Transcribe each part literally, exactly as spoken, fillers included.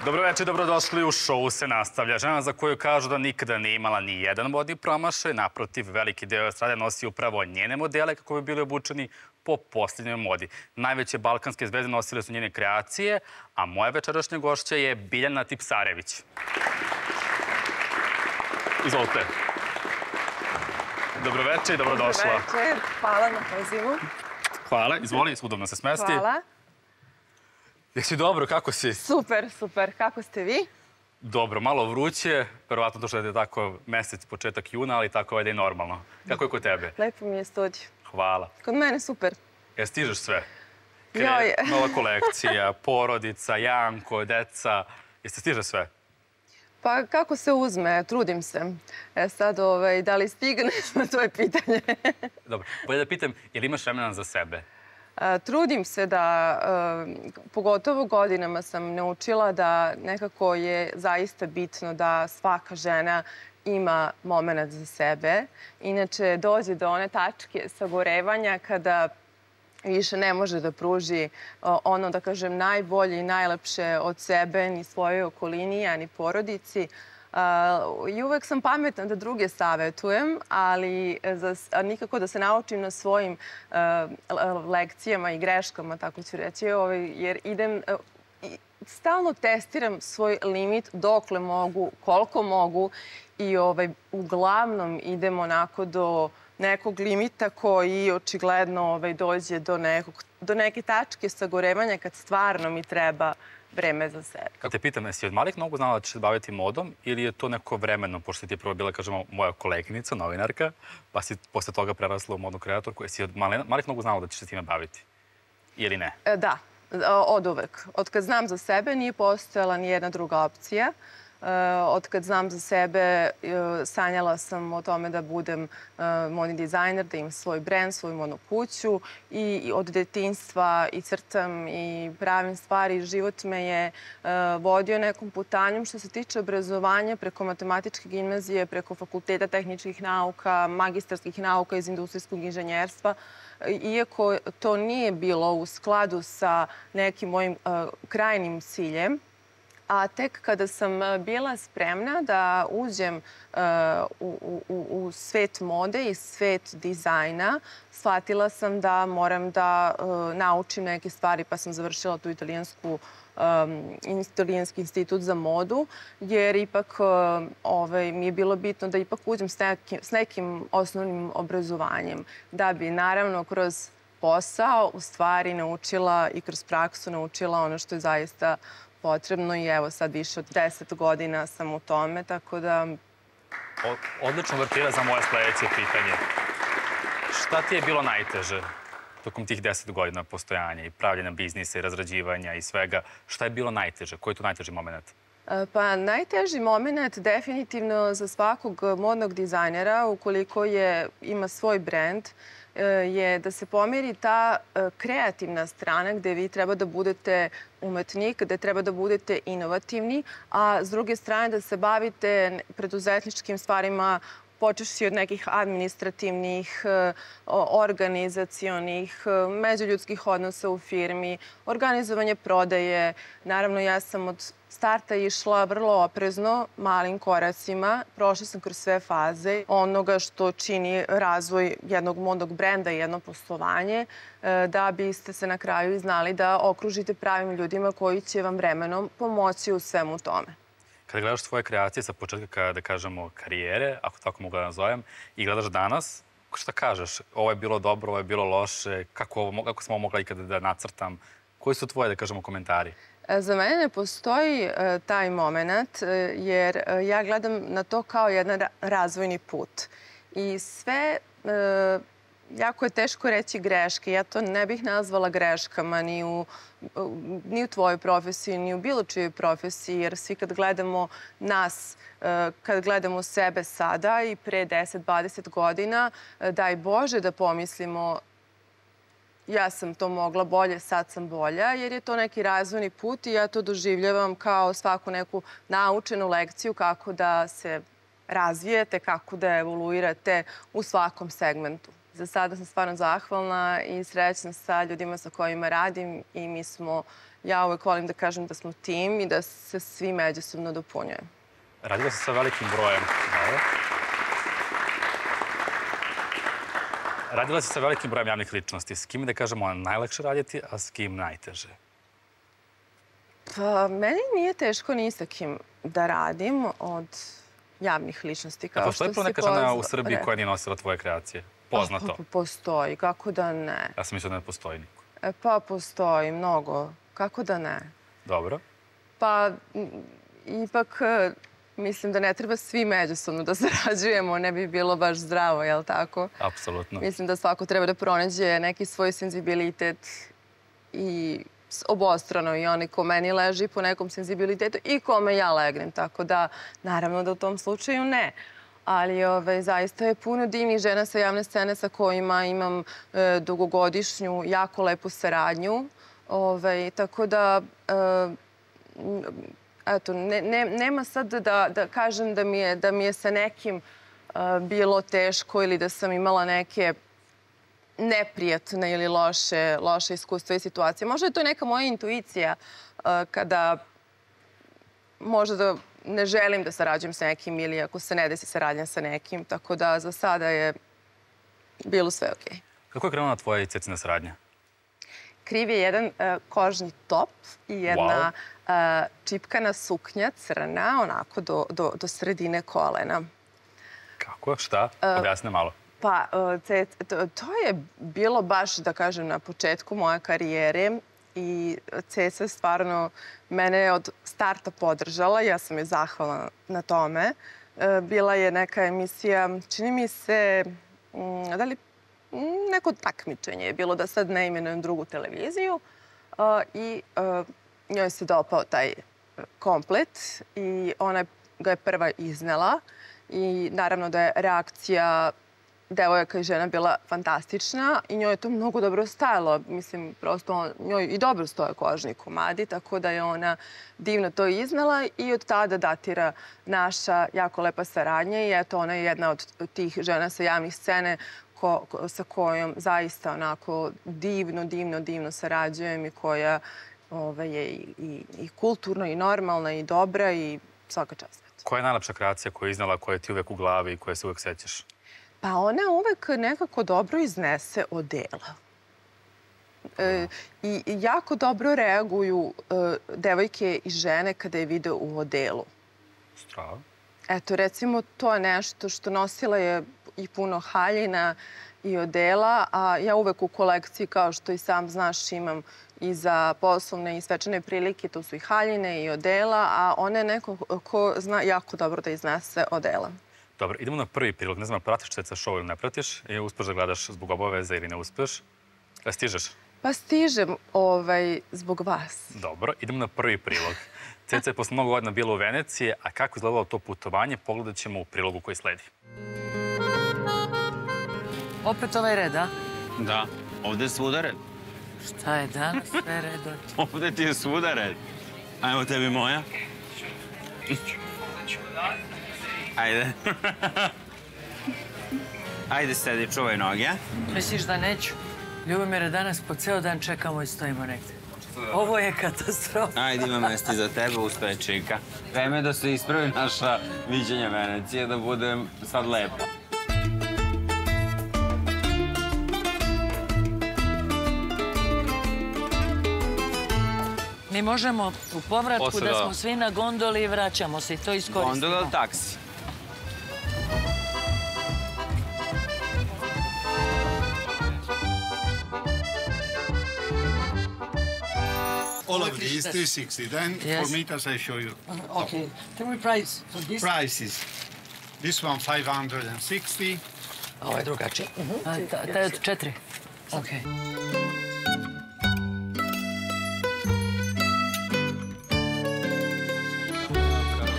Dobro večer, dobrodošli u Šou se nastavlja. Žena za koju kažu da nikada nije imala ni jedan modni promašaj, naprotiv, veliki deo estrade nosi upravo njene modele kako bi bili obučeni po posljednjoj modi. Najveće balkanske zvezde nosile su njene kreacije, a moja večerašnja gošća je Biljana Tipsarević. Izvolite. Dobro večer i dobrodošla. Dobro večer, hvala na pozivu. Hvala, izvoli, udobno se smesti. Hvala. Jesi dobro, kako si? Super, super. Kako ste vi? Dobro, malo vruće, verovatno to što je tako mesec, početak juna, ali tako je normalno. Kako je kod tebe? Lepo mi je studio. Hvala. Kod mene super. Jel stižeš sve? Joj. Nova kolekcija, porodica, Janko, deca. Jeste stiže sve? Pa kako se uzme, trudim se. E sad, da li stigne, to je pitanje. Dobro, bolje da pitam, je li imaš vremena za sebe? Trudim se da, pogotovo godinama sam naučila da nekako je zaista bitno da svaka žena ima moment za sebe. Inače, dođe do one tačke sagorevanja kada više ne može da pruži ono, da kažem, najbolje i najlepše od sebe, ni svojoj okolini, a ni porodici. I uvek sam pametna da druge savetujem, ali nikako da se naučim na svojim lekcijama i greškama, tako ću reći, jer idem, stalno testiram svoj limit dokle mogu, koliko mogu i uglavnom idem onako do nekog limita koji očigledno dođe do neke tačke sagorevanja kad stvarno mi treba vreme za sebe. Kad te pitam, jesi od malih nogu znala da ćeš se baviti modom ili je to neko vremeno, pošto ti je prvo bila, kažemo, moja koleginica, novinarka, pa si posle toga prerasla u modnu kreatorku, jesi od malih nogu znala da ćeš se time baviti? Ili ne? Da, od uvek. Od kad znam za sebe nije postojala ni jedna druga opcija. Od kad znam za sebe, sanjala sam o tome da budem modni dizajner, da imam svoj brend, svoju modnu kuću i od detinjstva i crtam i pravim stvari. Život me je vodio nekom putanjom što se tiče obrazovanja preko matematičke gimnazije, preko fakulteta tehničkih nauka, magistarskih nauka iz industrijskog inženjerstva. Iako to nije bilo u skladu sa nekim mojim krajnim ciljem, a tek kada sam bila spremna da uđem u svet mode i svet dizajna, shvatila sam da moram da naučim neke stvari, pa sam završila tu italijanski institut za modu, jer ipak mi je bilo bitno da ipak uđem s nekim osnovnim obrazovanjem, da bi naravno kroz posao u stvari naučila i kroz praksu naučila ono što je zaista potrebno i evo sad više od deset godina sam u tome, tako da... Odlično vrtira za moje sledeće pitanje. Šta ti je bilo najteže tokom tih deset godina postojanja i pravljena biznisa i razrađivanja i svega? Šta je bilo najteže? Koji je to najteži moment? Pa najteži moment definitivno za svakog modnog dizajnera, ukoliko ima svoj brend, je da se pomeri ta kreativna strana gde vi treba da budete umetnik, gde treba da budete inovativni, a s druge strane da se bavite preduzetničkim stvarima, počevši od nekih administrativnih, organizacionih, međuljudskih odnosa u firmi, organizovanje prodaje. Naravno, ja sam od starta išla vrlo oprezno, malim koracima. Prošla sam kroz sve faze onoga što čini razvoj jednog modnog brenda i jedno poslovanje, da biste se na kraju znali da okružite pravim ljudima koji će vam vremenom pomoći u svemu tome. Kada gledaš svoje kreacije sa početka, da kažemo, karijere, ako tako mogu da nazovem, i gledaš danas, šta kažeš? Ovo je bilo dobro, ovo je bilo loše, kako sam ovo mogla ikada da nacrtam? Koji su tvoje, da kažemo, komentari? Za mene ne postoji taj moment, jer ja gledam na to kao jedan razvojni put. I sve, jako je teško reći greške. Ja to ne bih nazvala greškama ni u tvojoj profesiji, ni u bilo čijoj profesiji, jer svi kad gledamo nas, kad gledamo sebe sada i pre deset dvadeset godina, daj Bože da pomislimo ja sam to mogla bolje, sad sam bolja, jer je to neki razvojni put i ja to doživljavam kao svaku neku naučenu lekciju kako da se razvijete, kako da evoluirate u svakom segmentu. za sada sam stvarno zahvalna i srećna sa ljudima sa kojima radim i mi smo, ja uvek volim da kažem da smo tim i da se svi međusobno dopunjujemo. Radila si sa velikim brojem. Radila si sa velikim brojem javnih ličnosti. S kim, da kažemo, najlakše raditi, a s kim najteže? Pa, meni nije teško ni sa kim da radim od javnih ličnosti, kao što si postoji neka žena u Srbiji koja nije nosila tvoje kreacije? Poznato? Postoji, kako da ne. Ja sam mislila da ne postoji niko. Pa, postoji, mnogo. Kako da ne? Dobro. Pa, ipak, mislim da ne treba svi međusobno da sarađujemo, ne bi bilo baš zdravo, jel tako? Apsolutno. Mislim da svako treba da pronađe neki svoj senzibilitet i obostrano i oni ko meni leži po nekom senzibilitetu i kome ja legnem. Tako da, naravno da u tom slučaju ne. Ali zaista je puno divnih žena sa javne scene sa kojima imam dugogodišnju, jako lepu saradnju. Tako da, eto, nema sad da kažem da mi je sa nekim bilo teško ili da sam imala neke neprijatne ili loše iskustva i situacije. Možda je to neka moja intuicija kada možda da ne želim da sarađujem sa nekim ili ako se ne desi saradnja sa nekim. Tako da za sada je bilo sve okej. Kako je krenula tvoja i Cecina saradnja? Kriv je jedan kožni top i jedna čipkana suknja crna, onako do sredine kolena. Kako? Šta? Objasni malo. Pa, to je bilo baš, da kažem, na početku moje karijere i Ceca stvarno mene od starta podržala. Ja sam joj zahvalna na tome. Bila je neka emisija, čini mi se, da li neko takmičenje je bilo, da sad ne imenujem drugu televiziju, i njoj se dopao taj komplet i ona ga je prva iznela i naravno da je reakcija devojaka i žena bila fantastična i njoj je to mnogo dobro stajalo. Mislim, prosto njoj i dobro stoje kožni komadi, tako da je ona divno to iznela i od tada datira naša jako lepa saradnja i eto, ona je jedna od tih žena sa javnih scene sa kojom zaista onako divno, divno, divno sarađujem i koja je i kulturna i normalna i dobra i svaka čast. Koja je najlepša kreacija koju je iznala, koja ti uvek u glavi i koje se uvek sećaš? Pa ona uvek nekako dobro iznese odela. I jako dobro reaguju devojke i žene kada je vide u odelu. Strava. Eto, recimo, to je nešto što nosila je i puno haljina i odela, a ja uvek u kolekciji, kao što i sam znaš, imam i za poslovne i svečane prilike, tu su i haljine i odela, a ona je neko ko zna jako dobro da iznese odela. Dobro, idemo na prvi prilog. Ne znam, pratiš Ceca show ili ne pratiš? I uspeš da gledaš zbog obaveza ili ne uspeš? Da stižeš? Pa stižem zbog vas. Dobro, idemo na prvi prilog. Ceca je posle mnogo godina bila u Veneciji, a kako izgledalo to putovanje, pogledat ćemo u prilogu koji sledi. Opet ovaj red, a? Da, ovde je svuda red. Šta je danas sve redom? Ovde ti je svuda red. A evo tebi moja. Ajde. Ajde, sedi, čuvaj noge. Misliš da neću? Ljubomire, danas po ceo dan čekamo i stojimo negde. Ovo je katastrofa. Ajde, ima mesta i za tebe, ustaje čika. Vreme je da se ispravi naša viđenja Venecije, da bude sad lepo. Mi možemo u povratku da smo svi na gondoli i vraćamo se i to iskoristimo. Gondola ili taksi? All of these, three sixty. Then for meters, I show you. Okay. Tell me price for this. Prices. This one, five hundred sixty. Ovo je drugačije. Taj od četiri. Okay.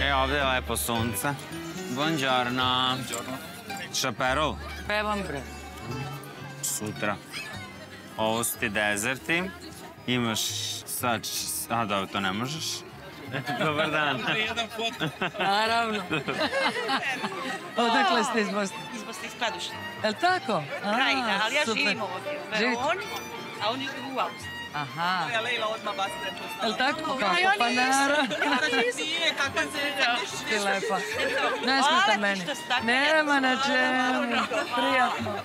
E, ovde je lepo sunce. Buongiorno. Šaperol? Pevam, bre. Sutra. Ovo su ti dezerti. Imaš sad... A, dobro, to ne možeš. Dobar dan. Naravno. Odakle ste iz Bosne? Iz Bosne, iz Kladuše. Je li tako? Krajina, ali ja živim ovdje u Veroni, a oni živu u Austriji. Aha. Ja Lejla odmah vas prepoznala. Je li tako? Kako? Pa naravno. Nije, kako se Ti lepa. Ne smeta meni. Nema na čemu. Prijatno.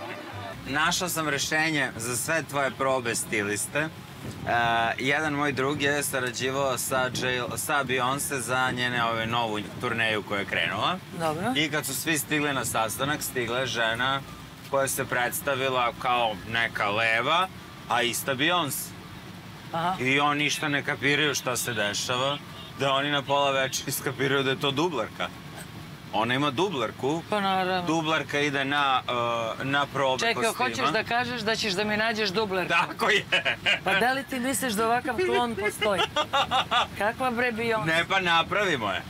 Našao sam rešenje za sve tvoje probe stiliste. Jedan moj drug je sarađivao sa Beyoncé za njene ove novu turneju koja je krenula. Dobro. I kad su svi stigli na sastanak, stigla je žena koja se predstavila kao neka leva, a ista Beyoncé. I oni ništa ne kapiraju šta se dešava, da oni na pola večeri skapiraju da je to dublarka. Ona ima dublarku. Pa naravno. Dublarka ide na probe kostima. Čekaj, hoćeš da kažeš da ćeš da mi nađeš dublarku? Tako je. Pa da li ti misliš da ovakav klon postoji? Kakva bre Beyoncé? Ne, pa napravimo je.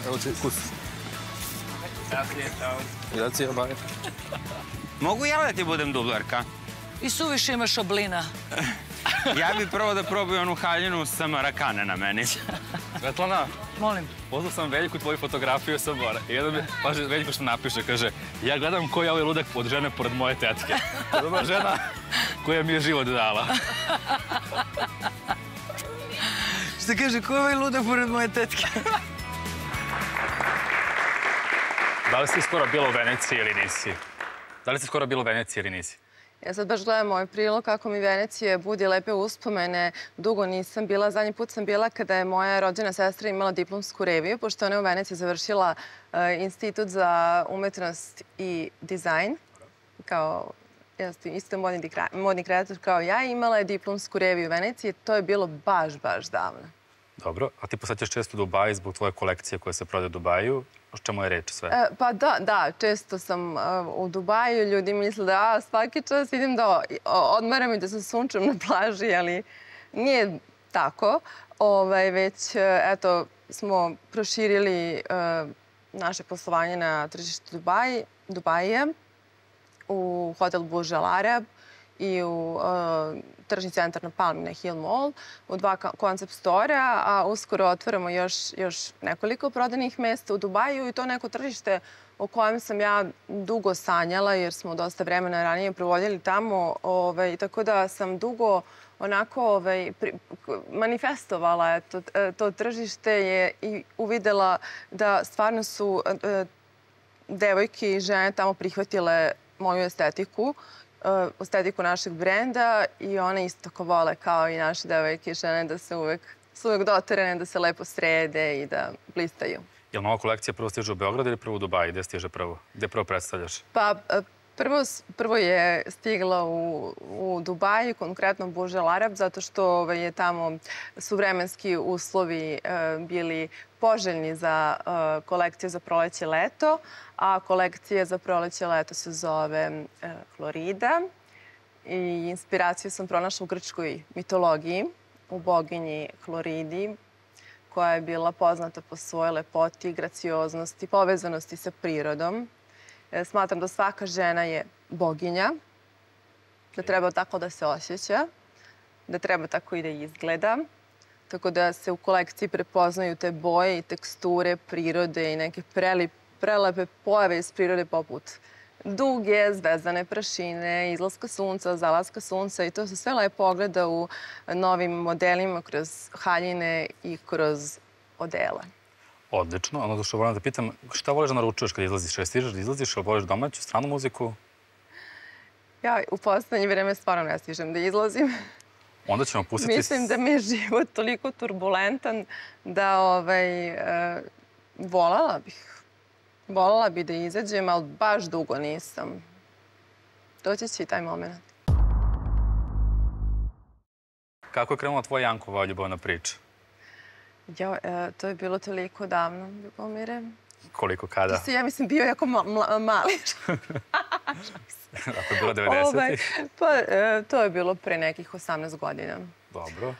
Evo će kus. Grazie, bye. Mogu ja da ti budem dublarka? I suviše imaš oblina. Ja bih prvo da probaju onu haljinu sa marakane na meni. Svetlana, Molim. poslao sam Veljku tvoju fotografiju sa mora. I jedan mi, paže, Veljko što napiše, kaže, ja gledam ko je ovaj ludak od žene pored moje tetke. To je žena koja mi je život dala. Što kaže, ko je ovaj ludak pored moje tetke? Da li si skoro bila u Veneciji ili nisi? Da li si skoro bila u Veneciji ili nisi? Ja sad baš gledam ovaj prilog kako mi Venecije budi lepe uspomene. Dugo nisam bila. Zadnji put sam bila kada je moja rođena sestra imala diplomsku reviju, pošto ona je u Veneciji završila Institut za umetnost i dizajn. Kao isto modni kreator kao ja. Imala je diplomsku reviju u Veneciji. To je bilo baš, baš davno. Dobro. A ti posjećaš često Dubaj zbog tvoje kolekcije koje se prodaje u Dubaju? O čemu je reč sve? Pa da, da. Često sam u Dubaju. Ljudi misle da svaki čas idem da odmaram i da se sunčam na plaži, ali nije tako. Već, eto, smo proširili naše poslovanje na tržištu Dubaja u hotel Burj Al Arab i u tržni centar na Palm na Hill Mall, u dva koncept stora, a uskoro otvaramo još nekoliko prodanih mesta u Dubaju i to neko tržište o kojem sam ja dugo sanjala jer smo dosta vremena ranije provodili tamo, tako da sam dugo onako manifestovala to tržište i uvidela da stvarno su devojke i žene tamo prihvatile moju estetiku, estetiku našeg brenda i one isto tako vole kao i naše devojke i žene da se uvek doterene, da se lepo srede i da blistaju. Je li nova kolekcija prvo stiže u Beograd ili prvo u Dubaji? Gde stiže prvo? Gde prvo predstavljaš? Pa prvo je stigla u Dubaju, konkretno Burj Al Arab, zato što je tamo su vremenski uslovi bili poželjni za kolekciju za proleće leto, a kolekcija za proleće leto se zove Florida. I inspiraciju sam pronašla u grčkoj mitologiji, u boginji Floridi, koja je bila poznata po svojoj lepoti, gracioznosti, povezanosti sa prirodom. Smatram da svaka žena je boginja, da treba tako da se osjeća, da treba tako i da izgleda. Tako da se u kolekciji prepoznaju te boje i teksture prirode i neke prelepe pojave iz prirode poput duge, zvezdane prašine, izlaska sunca, zalaska sunca i to se sve lepo ogleda u novim modelima kroz haljine i kroz odela. Odlično. Ono što volim da pitam, šta voliš da naručuješ kada izlaziš? Kada stižeš da izlaziš, ili voliš domaću, stranu muziku? Ja u poslednje vreme stvarno ne stižem da izlazim. Onda ćemo pustiti... Mislim da mi je život toliko turbulentan da voljela bih. Voljela bih da izađem, ali baš dugo nisam. Doći će i taj moment. Kako je krenula tvoja Jankova ljubavna priča? To je bilo toliko davno, Ljubomire. Koliko, kada? Ti si, ja mislim, bio jako mali. Ako je bilo devedesetih? Pa, to je bilo pre nekih osamnaest godina. Dobro.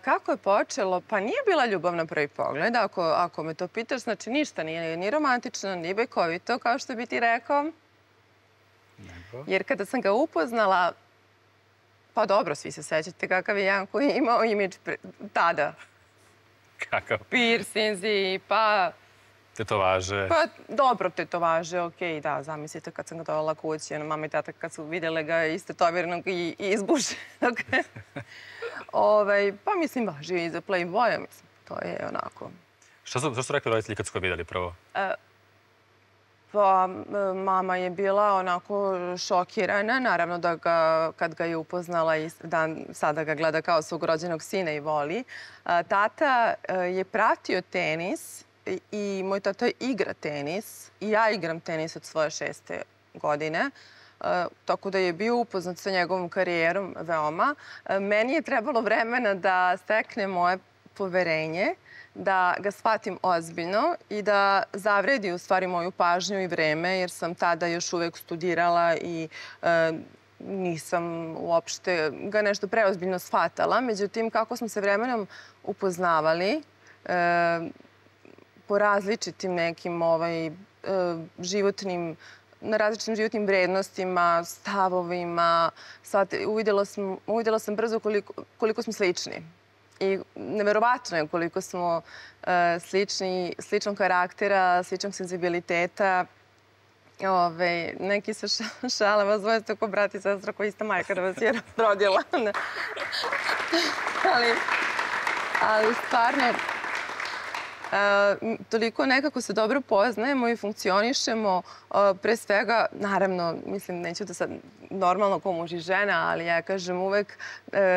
Kako je počelo? Pa nije bila ljubav na prvi pogled, ako me to pitaš. Znači, ništa nije ni romantično, ni bekovito, kao što bi ti rekao. Nego? Jer kada sam ga upoznala, pa dobro, svi se sećate kakav je Janko imao imidž tada. Kakav? Piercinzi, pa... Tetovaže. Pa dobro, tetovaže, okej, da, zamislite kad sam ga dovela kući, mama i tata kad su vidjele ga istetovirnog i izbušenog. Pa mislim, važio i za Playboya, mislim, to je onako... Što su rekli roditelji kad su ga vidjeli prvo? Pa mama je bila onako šokirana, naravno da ga, kad ga je upoznala i sada ga gleda kao svog rođenog sina i voli. Tata je pratio tenis i moj tata igra tenis i ja igram tenis od svoje šeste godine. Tako da je bio upoznat sa njegovom karijerom veoma. Meni je trebalo vremena da stekne moje poverenje, da ga shvatim ozbiljno i da zavredi u stvari moju pažnju i vreme, jer sam tada još uvek studirala i nisam uopšte ga nešto preozbiljno shvatala. Međutim, kako smo se vremenom upoznavali po različitim nekim životnim, na različitim životnim vrednostima, stavovima, uvidjela sam brzo koliko smo slični. I neverovatno je koliko smo slični, sličnog karaktera, sličnog senzibiliteta. Neki se šale, vas dvoje ste ko brat i sestra koja ista majka da vas je rodila. Ali stvarno, toliko nekako se dobro poznajemo i funkcionišemo. Pre svega, naravno, mislim, neću da sad normalno ko muž i žena, ali ja kažem uvek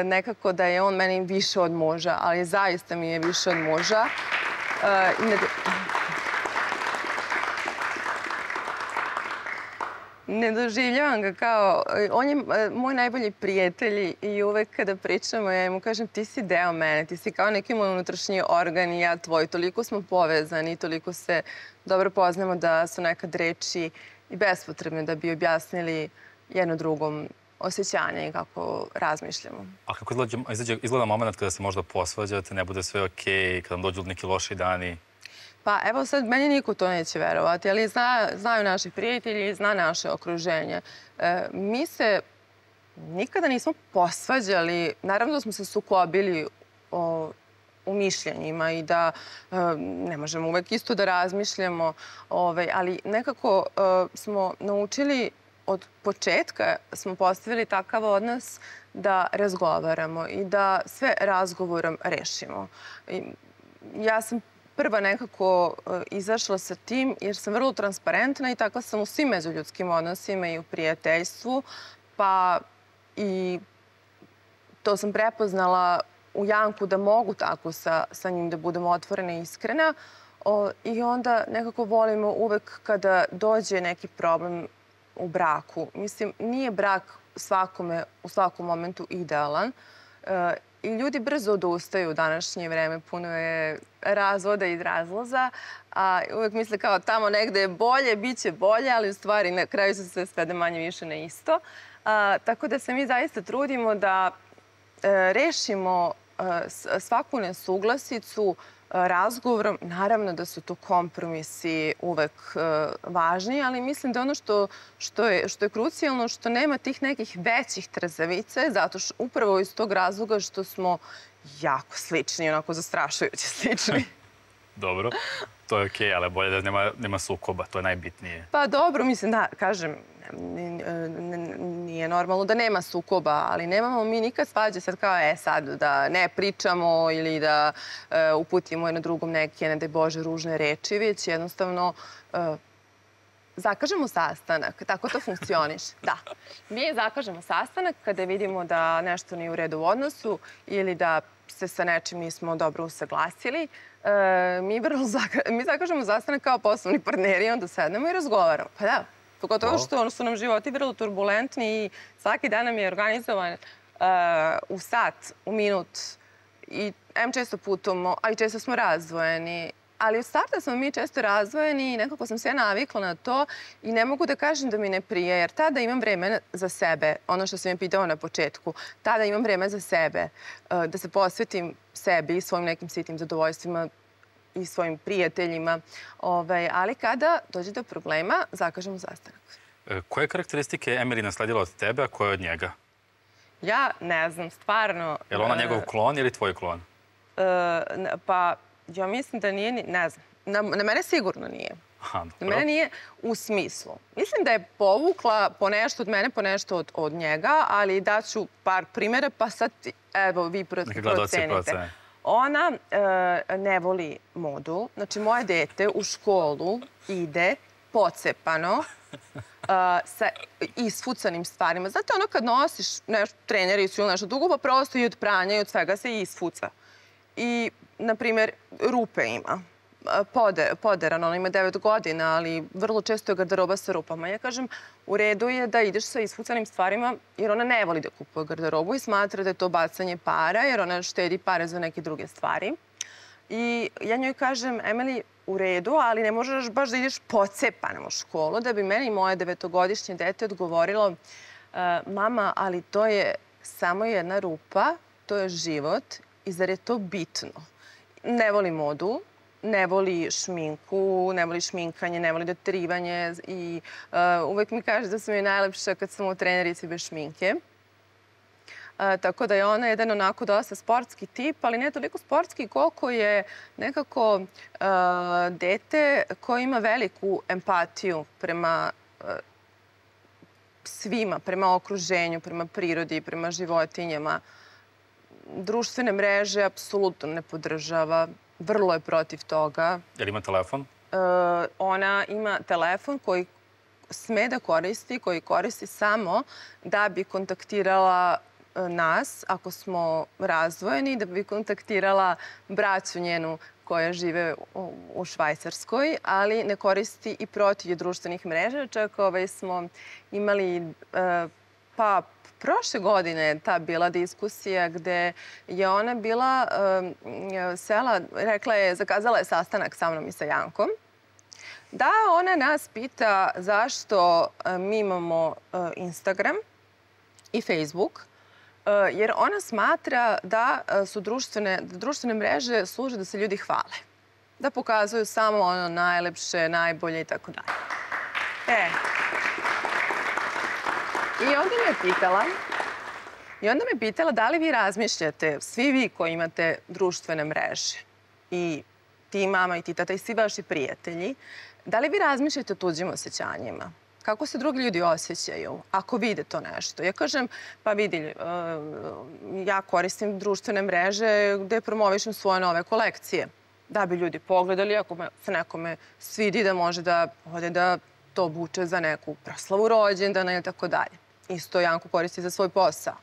nekako da je on meni više od muža, ali zaista mi je više od muža. Ne doživljavam ga kao... On je moj najbolji prijatelj i uvek kada pričamo, ja mu kažem ti si deo mene, ti si kao neki moj unutrašnji organ i ja tvoj. Toliko smo povezani, toliko se dobro poznamo da su nekad reči i bespotrebne da bi objasnili jedno drugom osjećanje i kako razmišljamo. A kako izgleda moment kada se možda posvađate, ne bude sve okej, kada vam dođu neki loši dani? Pa evo sad, meni niko to neće verovati, ali znaju naši prijatelji, zna naše okruženje. Mi se nikada nismo posvađali, naravno da smo se sukobili u mišljenjima i da ne možemo uvek isto da razmišljamo, ali nekako smo naučili od početka, smo postavili takav odnos da razgovaramo i da sve razgovorom rešimo. Ja sam prva nekako izašla sa tim jer sam vrlo transparentna i tako sam u svim međuljudskim odnosima i u prijateljstvu, pa i to sam prepoznala u Janku da mogu tako sa njim da budem otvorena i iskrena i onda nekako volimo uvek kada dođe neki problem u braku. Mislim, nije brak svakome u svakom momentu idealan i ljudi brzo odustaju u današnje vreme. Puno je razvoda i razloza, a uvek misle kao tamo negde je bolje, bit će bolje, ali u stvari na kraju se sve svede manje više na isto. Tako da se mi zaista trudimo da rešimo svaku nesuglasicu razgovorom. Naravno da su to kompromisi uvek važni, ali mislim da ono što je krucijalno, što nema tih nekih većih trzavica, zato što upravo iz tog razloga što smo jako slični, onako zastrašujuće slični. Dobro, to je okej, ali bolje da nema sukoba, to je najbitnije. Pa dobro, mislim da, kažem, nije normalno da nema sukoba, ali nemamo mi nikad svađe sad kao, e sad, da ne pričamo ili da uputimo jedno drugom neke, ne daj Bože, ružne reči, već jednostavno zakažemo sastanak. Tako to funkcioniše. Da. Mi zakažemo sastanak kada vidimo da nešto nije u redu u odnosu ili da se sa nečim nismo dobro usaglasili. Mi zakažemo sastanak kao poslovni partneri i onda sednemo i razgovaramo. Pa da. Pogotovo što su nam životi vrlo turbulentni i svaki dan nam je organizovan u sat, u minut. I em često putujemo, a i često smo razdvojeni. Ali od starta smo mi često razdvojeni i nekako sam se ja navikla na to i ne mogu da kažem da mi ne prije, jer tada imam vreme za sebe, ono što sam je pitao na početku. Tada imam vreme za sebe, da se posvetim sebi i svojim nekim sitnim zadovoljstvima i svojim prijateljima. Ali kada dođe do problema, zakažemo sastanak. Koje karakteristike je Emily nasledila od tebe, a koje od njega? Ja ne znam, stvarno... Je li ona njegov klon ili tvoj klon? Pa, ja mislim da nije, ne znam. Na mene sigurno nije. Na mene nije u smislu. Mislim da je povukla po nešto od mene, po nešto od njega, ali daću par primjera, pa sad, evo, vi procenite. Ona ne voli modu. Znači, moje dete u školu ide pocepano, sa isfucanim stvarima. Znate, ono kad nosiš trenericu ili nešto dugo, pa prosto i od pranja i od svega se isfuca. I, na primjer, rupe ima. Poderan, ona ima devet godina, ali vrlo često je garderoba sa rupama. Ja kažem, u redu je da ideš sa isfucanim stvarima, jer ona ne voli da kupuje garderobu i smatra da je to bacanje para, jer ona štedi pare za neke druge stvari. I ja njoj kažem, Emily, u redu, ali ne možeš baš da ideš pocepanom u školu, da bi meni moje devetogodišnje dete odgovorilo, mama, ali to je samo jedna rupa, to je život i zar je to bitno? Ne voli modu, ne voli šminku, ne voli šminkanje, ne voli doterivanje i uvek mi kaže da sam joj najlepša kad sam u trenerici bez šminke. Tako da je ona jedan onako dosta sportski tip, ali ne toliko sportski koliko je nekako dete koje ima veliku empatiju prema svima, prema okruženju, prema prirodi, prema životinjama. Društvene mreže apsolutno ne podržava, vrlo je protiv toga. Je li ima telefon? Ona ima telefon koji sme da koristi, koji koristi samo da bi kontaktirala nas, ako smo razdvojeni, da bi kontaktirala braću njenu koja žive u Švajcarskoj, ali ne koristi i protiv društvenih mreža. Čak smo imali, pa prošle godine je ta bila diskusija gde je ona bila sela, rekla je, zakazala je sastanak sa mnom i sa Jankom, da ona nas pita zašto mi imamo Instagram i Facebook, jer ona smatra da su društvene mreže služe da se ljudi hvale. Da pokazuju samo ono najlepše, najbolje i tako dalje. E. I onda me pitala, i onda me pitala da li vi razmišljate, svi vi koji imate društvene mreže, i ti mama i ti tata i svi vaši prijatelji, da li vi razmišljate o tuđim osjećanjima? Kako se drugi ljudi osjećaju ako vide to nešto? Ja kažem, pa vidi, ja koristim društvene mreže gde promovišem svoje nove kolekcije. Da bi ljudi pogledali, ako se nekome svidi da može da ode da to obuče za neku proslavu rođendana ili tako dalje. Isto Janko koristi za svoj posao.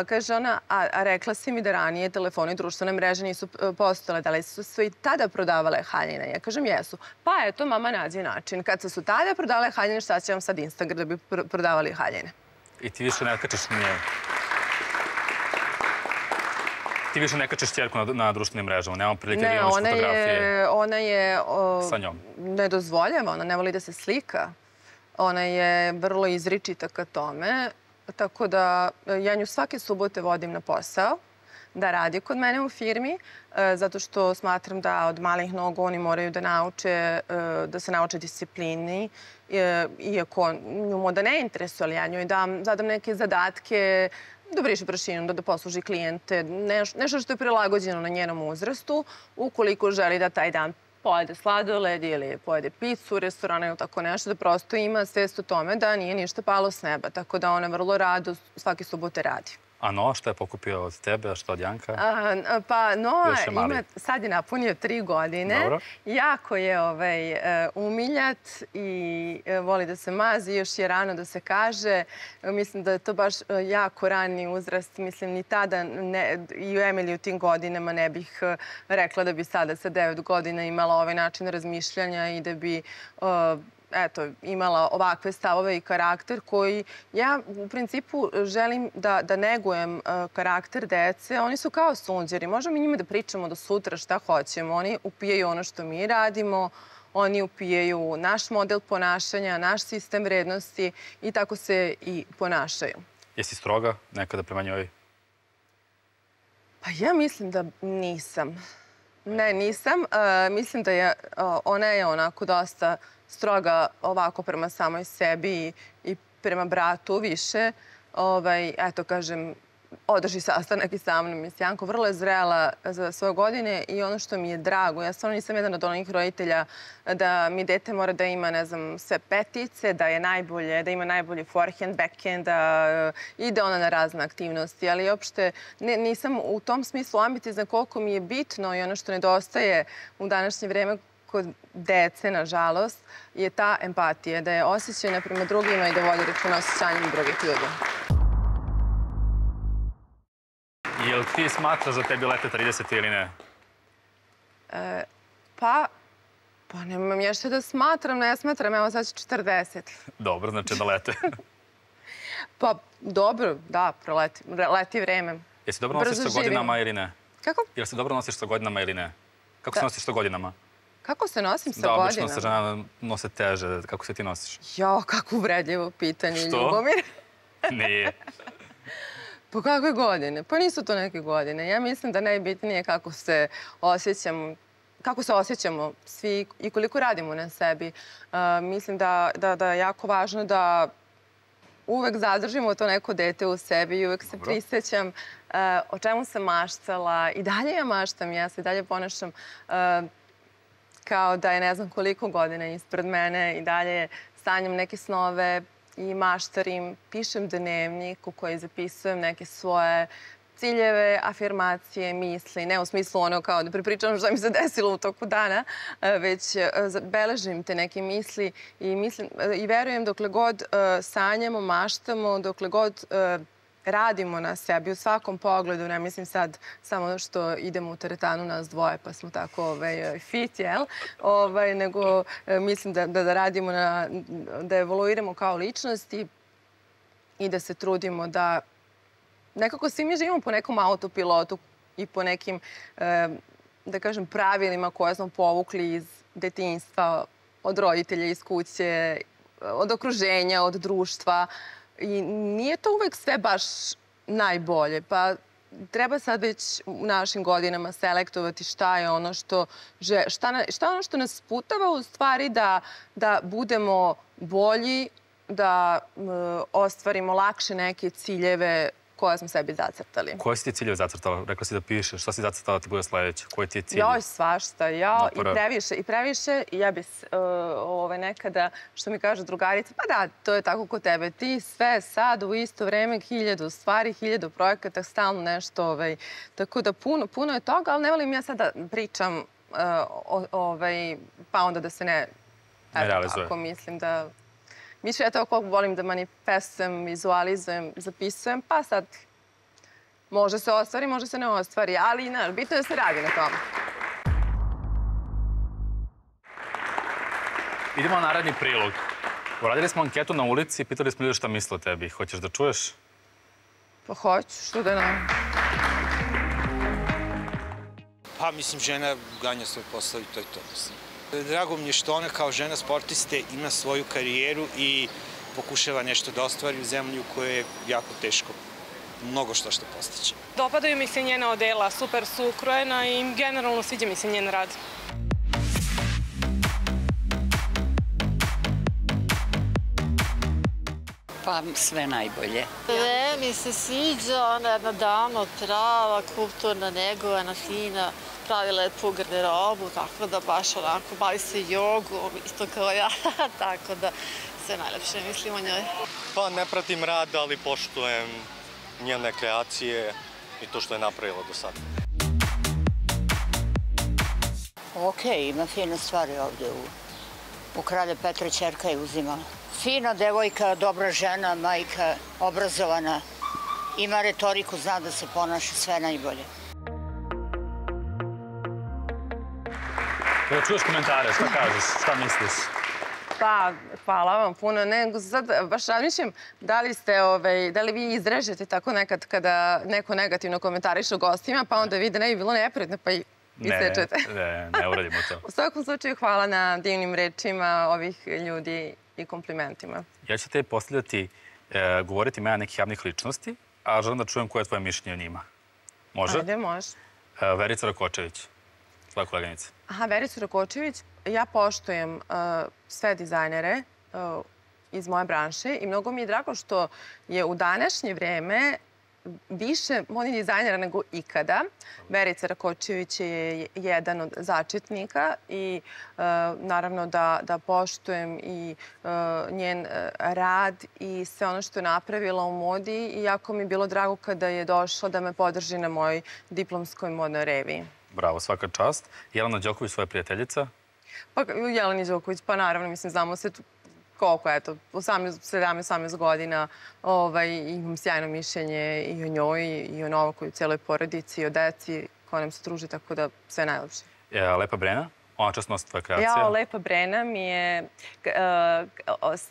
Kaže ona, a rekla si mi da ranije telefoni i društvene mreže nisu postojale, da li su sve i tada prodavale haljine? Ja kažem, jesu. Pa eto, mama nađe način. Kad se su tada prodavale haljine, šta će vam sad Instagram da bi prodavali haljine? I ti više ne kačeš nje? Ti više ne kačeš čerku na društvenim mrežama? Nemamo prilike da imaš fotografije Ne, ona je... sa njom? Ne dozvoljava, ona ne voli da se slika. Ona je vrlo izričita ka tome. Tako da ja nju svake subote vodim na posao, da radi kod mene u firmi, zato što smatram da od malih nogu oni moraju da nauče, da se nauče disciplini, iako nju moda ne interesuje, ali ja njoj zadam neke zadatke, da briše prašinu, da posluži klijente, nešto što je prilagođeno na njenom uzrastu, ukoliko želi da taj dan pojede sladoled ili pojede picu u restoranu ili tako nešto, da prosto ima svest o tome da nije ništa palo s neba. Tako da ona vrlo rado svake subote radi. A Noa što je pokupio od tebe, a što od Janka? Pa Noa sad je napunio tri godine. Jako je umiljat i voli da se mazi. Još je rano da se kaže. Mislim da je to baš jako rani uzrast. Mislim, ni tada i u Emily u tim godinama ne bih rekla da bi sada sa devet godina imala ovaj način razmišljanja i da bi eto, imala ovakve stavove i karakter koji ja u principu želim da negujem karakter dece. Oni su kao sunđeri. Možemo mi njima da pričamo do sutra šta hoćemo. Oni upijaju ono što mi radimo, oni upijaju naš model ponašanja, naš sistem vrednosti i tako se i ponašaju. Jesi stroga nekada prema njoj? Pa ja mislim da nisam. Ne, nisam. Mislim da je, ona je onako dosta stroga ovako prema samoj sebi i prema bratu više. Eto, kažem, održi sastanak i sa mnom i s Janko. Vrlo je zrela za svoje godine i ono što mi je drago, ja stvarno nisam jedan od onih roditelja da mi dete mora da ima, ne znam, sve petice, da je najbolje, da ima najbolji forehand, backhand, da ide ona na razne aktivnosti, ali uopšte nisam u tom smislu ambiciozna koliko mi je bitno i ono što nedostaje u današnje vreme kod dece, nažalost, je ta empatija, da je osjećajna prema drugima i da vodi računa o osjećanjima drugih ljudi. Jel ti smatraš da tebi lete trideset ili ne? Pa, pa nemam ja što da smatram, ne smatram, evo sad će četrdeset. Dobro, znači da lete. Pa, dobro, da, leti vreme. Jesi dobro nosiš sa godinama ili ne? Kako? Jel se dobro nosiš sa godinama ili ne? Kako se nosiš sa godinama? Kako se nosim sa godinama? Da, obično se žena nose teže. Kako se ti nosiš? Jo, kako uvredljivo pitanje, Ljubomir. Što? Nije. Pa kakve godine? Pa nisu to neke godine. Ja mislim da najbitnije kako se osjećamo, kako se osjećamo svi i koliko radimo na sebi. Mislim da je jako važno da uvek zadržimo to neko dete u sebi i uvek se prisjećam o čemu sam maštala. I dalje ja maštam, ja se i dalje ponašam kao da je ne znam koliko godina ispred mene i dalje sanjam neke snove i maštarim, pišem dnevnik u koji zapisujem neke svoje ciljeve, afirmacije, misli. Ne u smislu ono kao da prepričam što mi se desilo u toku dana, već beležim te neke misli i verujem dokle god sanjamo, maštamo, dokle god radimo na sebi u svakom pogledu, ne mislim sad samo što idemo u teretanu nas dvoje pa smo tako fit, jel? Nego mislim da radimo, da evoluiramo kao ličnosti i da se trudimo da nekako svi mi živimo po nekom autopilotu i po nekim, da kažem, pravilima koje smo povukli iz detinjstva, od roditelja, iz kuće, od okruženja, od društva. I nije to uvek sve baš najbolje, pa treba sad već u našim godinama selektovati šta je ono što, šta je ono što nas putava u stvari da budemo bolji, da ostvarimo lakše neke ciljeve koje smo sebi zacrtali. Koje si ti ciljeve zacrtala? Rekla si da pišeš. Šta si zacrtala ti bude sledeće? Koji ti je cilj? Joj, svašta. Ja i previše. I previše. Ja bi nekada, što mi kaže drugarica, pa da, to je tako kod tebe. Ti sve sad u isto vreme hiljadu stvari, hiljadu projekata, stalno nešto. Tako da puno je toga, ali ne volim ja sad da pričam pa onda da se ne... Ne realizuje. Ako mislim da... Više ja to koliko volim da manifestujem, vizualizujem, zapisujem, pa sad može se ostvari, može se ne ostvari, ali bitno je da se radi na tome. Idemo na naredni prilog. Uradili smo anketu na ulici i pitali smo ljudi šta misle o tebi. Hoćeš da čuješ? Pa hoću, što da ne. Pa mislim, žena ganja svoj posao i to je to, mislim. Drago mi je što ona kao žena sportiste ima svoju karijeru i pokušava nešto da ostvari u zemlji u kojoj je jako teško mnogo što što postiće. Dopadaju mi se njena odela, super su ukrojena i generalno sviđa mi se njen rad. Pa sve najbolje. Sve mi se sviđa, ona je jedna dama, prava, kulturna, negovana, fina. Pravi lepu garderobu, tako da baš onako bavi se jogom, isto kao ja, tako da sve najlepše mislim o njoj. Pa ne pratim rad, ali poštujem njene kreacije i to što je napravila do sada. Okej, ima fine stvari ovde. U Kralja Petra ćerka je uzimala. Fina devojka, dobra žena, majka, obrazovana. Ima retoriku, zna da se ponaša, sve najbolje. Kada čuješ komentare, šta kažeš, šta misliš? Pa, hvala vam puno. Nego sad baš razmišljam da li ste, da li vi izrežete tako nekad kada neko negativno komentariše o gostima, pa onda vide ne bi bilo neprijatno, pa i isečete. Ne, ne uradimo to. U svakom slučaju hvala na divnim rečima ovih ljudi i komplimentima. Ja ću te postavljati, govoriti imena nekih javnih ličnosti, a želim da čujem koje je tvoje mišljenje o njima. Može? Ajde, može. Verica Rakočević. tvoja koleginica? Aha, Vericu Rakočević. Ja poštujem sve dizajnere iz moje branše i mnogo mi je drago što je u današnje vreme više modnih dizajnera nego ikada. Verica Rakočević je jedan od začetnika i naravno da poštujem i njen rad i sve ono što je napravila u modi i jako mi je bilo drago kada je došla da me podrži na mojoj diplomskoj modnoj reviji. Bravo, svaka čast. Jelena Đoković, svoja prijateljica? Pa Jeleni Đoković, pa naravno, mislim, znamo se koliko, eto, sedamnaest osamnaest godina, imam sjajno mišljenje i o njoj, i o Novaku, i o cijeloj porodici, i o deci koja nam se druži, tako da sve najlepše. Lepa Brena? Ona čast nosi tvoja kreacija? Ja, Lepa Brena mi je,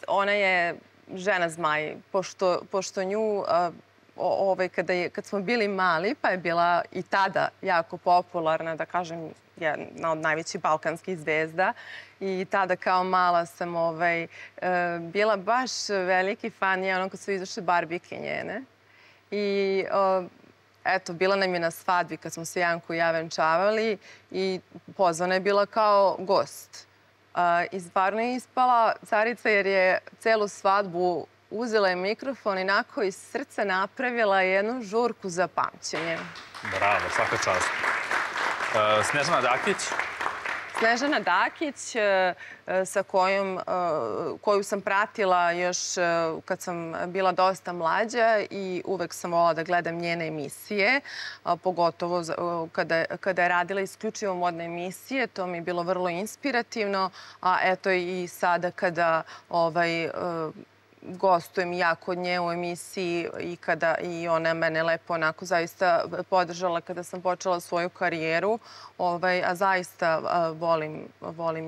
ona je žena zmaj, pošto nju, kad smo bili mali, pa je bila i tada jako popularna, da kažem, jedna od najvećih balkanskih zvezda. I tada kao mala sam bila baš veliki fan nje, ono kad su izašle barbike njene. I eto, bila nam je na svadbi kad smo se Janko i ja venčavali i pozvana je bila kao gost. I stvarno je ispala carica jer je celu svadbu uzela je mikrofon i onako iz srca napravila jednu žurku za pamćenje. Bravo, svaka čast. Snežana Dakić? Snežana Dakić, sa koju sam pratila još kad sam bila dosta mlađa i uvek sam volila da gledam njene emisije, pogotovo kada je radila isključivo modne emisije. To mi je bilo vrlo inspirativno, a eto i sada kada gostujem ja kod nje u emisiji i kada i ona mene lepo onako zaista podržala kada sam počela svoju karijeru, a zaista volim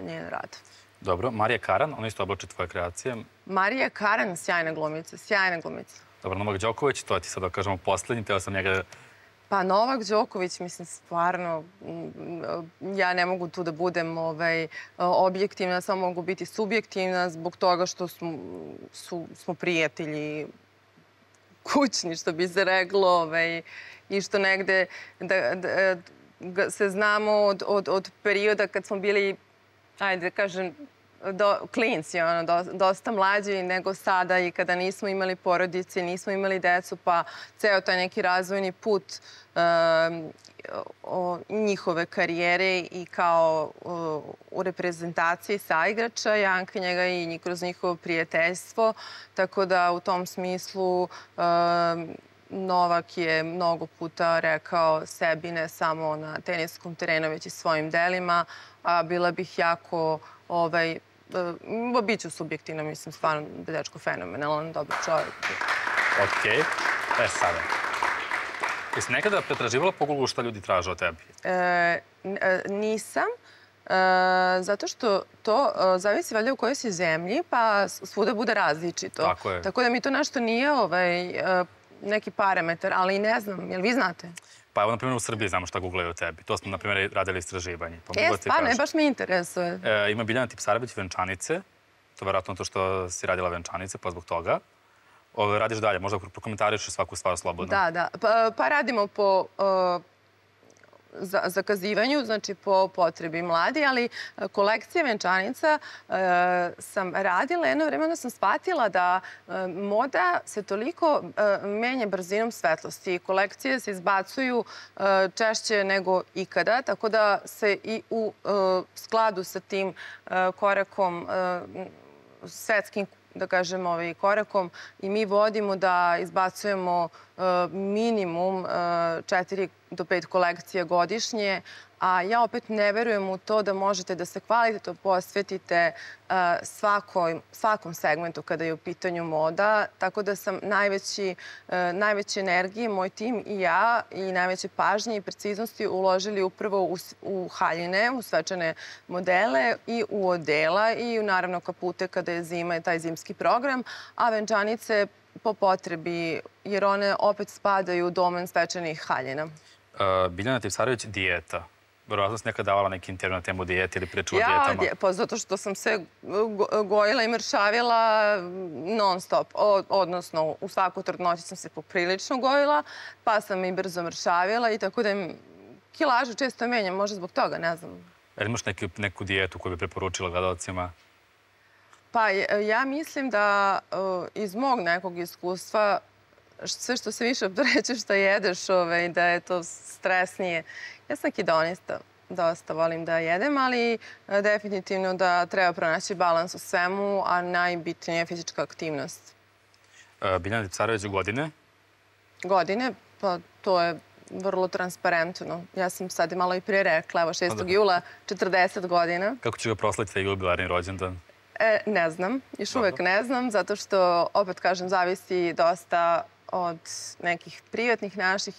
njen rad. Dobro. Marija Karan, ona isto oblači tvoje kreacije. Marija Karan, sjajna glumica, sjajna glumica. Dobro, Novak Đoković, to ti sad da kažemo poslednji, teo sam njega... Pa Novak Đoković, mislim, stvarno, ja ne mogu tu da budem objektivna, samo mogu biti subjektivna zbog toga što smo prijatelji kućni, što bi se reklo, i što negde se znamo od perioda kad smo bili, ajde da kažem, klinci, dosta mlađi nego sada i kada nismo imali porodice, nismo imali decu, pa ceo taj neki razvojni put njihove karijere i kao u reprezentaciji saigrača Janka njega i kroz njihovo prijateljstvo. Tako da u tom smislu Novak je mnogo puta rekao sebi ne samo na teniskom terenu, već i svojim delima, a bila bih jako biću subjektivna, mislim, stvarno dečko fenomenalan, dobar čovjek. Okej. E sada. Jesi nekada pretraživala po Google šta ljudi traže o tebi? Nisam, zato što to zavisi valjda u kojoj si zemlji, pa svuda bude različito. Tako je. Tako da mi to nešto nije neki parametar, ali ne znam, jel vi znate? Pa evo, na primjer, u Srbiji znamo šta googlaju o tebi. To smo, na primjer, radili istraživanje. E, stvarno, baš me interesuje. Ima Biljana Tipsarević, venčanice. To je vjerojatno to što si radila venčanice, pa zbog toga. Radiš dalje, možda prokomentariš svaku stvar slobodno. Da, da. Pa radimo po zakazivanju, znači po potrebi mladi, ali kolekcije venčanica sam radila. Jedno vreme onda sam shvatila da moda se toliko menja brzinom svetlosti. Kolekcije se izbacuju češće nego ikada, tako da se i u skladu sa tim korakom, svetskim da kažem, korakom i mi vodimo da izbacujemo minimum četiri do pet kolekcija godišnje, a ja opet ne verujem u to da možete da se kvalitetno posvetite svakom segmentu kada je u pitanju moda, tako da sam najveće energije, moj tim i ja, i najveće pažnje i preciznosti uložili upravo u haljine, u svečane modele i u odela i naravno kapute kada je zima i taj zimski program, a venčanice po potrebi, jer one opet spadaju u domen svečanih haljina. Biljana Tipsarević, dijeta. Verovatno si nekada davala neki intervju na temu dijete ili priču o dijetama? Ja, pa zato što sam se gojila i mršavila non stop. Odnosno, u svaku trudnoći sam se poprilično gojila, pa sam i brzo mršavila i tako da kilažu često menjam, možda zbog toga, ne znam. Jel imaš neku dijetu koju bi preporučila gledalcima? Pa ja mislim da iz mog nekog iskustva sve što se više opterećeš što jedeš, da je to stresnije. Ja sam hedonista, dosta volim da jedem, ali definitivno da treba pronaći balans u svemu, a najbitnije je fizička aktivnost. Biljana Tipsarević, godine? Godine? Pa to je vrlo transparentno. Ja sam sad malo i prije rekla, evo šestog jula, četrdeset godina. Kako će ga proslaviti taj jubilarni rođendan? Ne znam, još uvek ne znam, zato što, opet kažem, zavisi dosta od nekih privatnih naših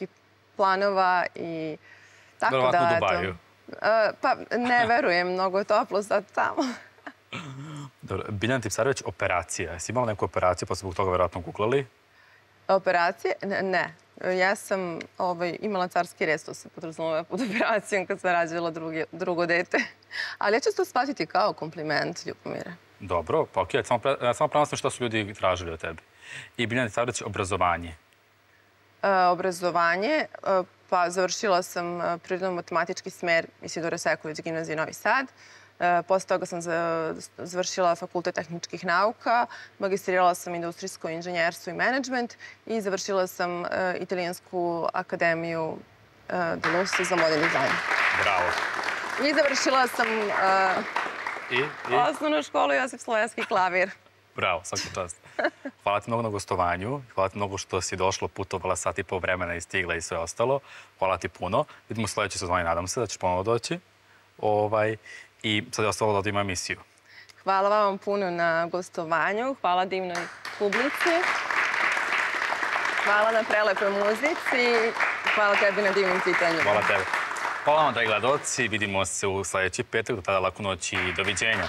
planova i tako da... Verovatno u Dubaju. Pa ne verujem, mnogo je toplo sad tamo. Dobro, Biljana Tipsarević, operacija. Jesi imala neku operaciju pa su zbog toga verovatno googlali? Operacije? Ne. Ja sam imala carski rez, to se podrazumeva pod operacijom kad sam rađala drugo dete. Ali ja ću to shvatiti kao kompliment, Ljubomire. Dobro, pa okej, samo prenosim što su ljudi tražili od tebi. I Biljana Tipsarević, obrazovanje. Obrazovanje, pa završila sam prirodno-matematički smer Isidora Sekulić, gimnazije Novi Sad. Posle toga sam završila Fakultet tehničkih nauka, magistrirala sam industrijsko inženjerstvo i menadžment i završila sam Italijansku akademiju Delusa za modern dizajn. Bravo. I završila sam osnovnu školu Josip Slovenski klavir. Bravo, svaka čast. Hvala ti mnogo na gostovanju. Hvala ti mnogo što si došla, putovala sat i pol vremena i stigla i sve ostalo. Hvala ti puno. Vidimo u sledećoj sezoni, nadam se da ćeš ponovo doći. I sad je ostalo da ima emisiju. Hvala vam puno na gostovanju. Hvala divnoj publici. Hvala na prelepoj muzici. Hvala tebi na divnim pitanjima. Hvala tebi. Hvala vam, dragi gledalci. Vidimo se u sledeći petak. Do tada laku noć i doviđenja.